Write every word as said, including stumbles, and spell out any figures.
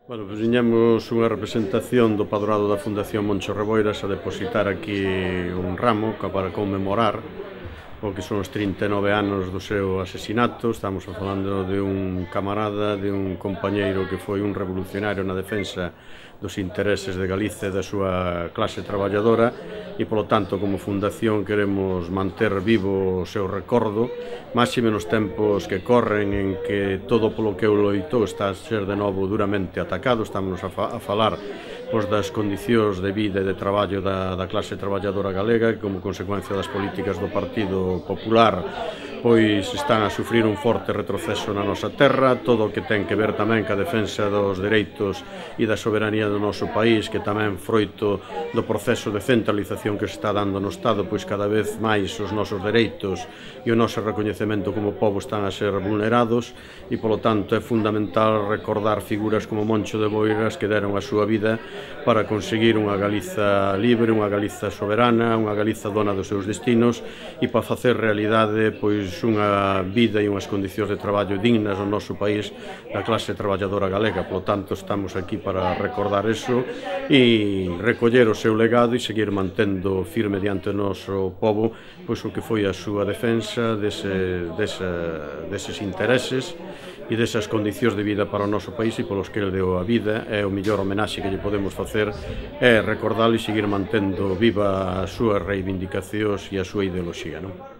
Bueno, pois viñemos unha representación do Padroado da Fundación Moncho Reboiras a depositar aquí un ramo para conmemorar o que son os trinta e nove anos do seu asesinato. Estamos falando de un camarada, de un compañeiro que foi un revolucionario na defensa dos intereses de Galicia e da súa clase traballadora e, polo tanto, como fundación queremos manter vivo o seu recordo, máxime nos tempos que corren en que todo polo que eu loitou está a ser de novo duramente atacado. Estamos a, fa a falar pois, das condicións de vida e de traballo da, da clase traballadora galega, que como consecuencia das políticas do Partido Popular pois están a sufrir un forte retroceso na nosa terra, todo o que ten que ver tamén ca defensa dos dereitos e da soberanía do noso país, que tamén froito do proceso de centralización que se está dando no Estado, pois cada vez máis os nosos dereitos e o noso recoñecemento como pobo están a ser vulnerados e, polo tanto, é fundamental recordar figuras como Moncho de Boiras que deron a súa vida para conseguir unha Galiza libre, unha Galiza soberana, unha Galiza dona dos seus destinos e para facer realidade pois unha vida e unhas condicións de traballo dignas no noso país da clase traballadora galega. Por lo tanto, estamos aquí para recordar eso e recoller o seu legado e seguir mantendo firme diante do noso pobo pois o que foi a súa defensa dese, dese, deses intereses e desas condicións de vida para o noso país e polos que ele deu a vida. É o mellor homenaxe que lle podemos facer é recordalo e seguir mantendo viva as súas reivindicacións e a súa ideoloxía, non?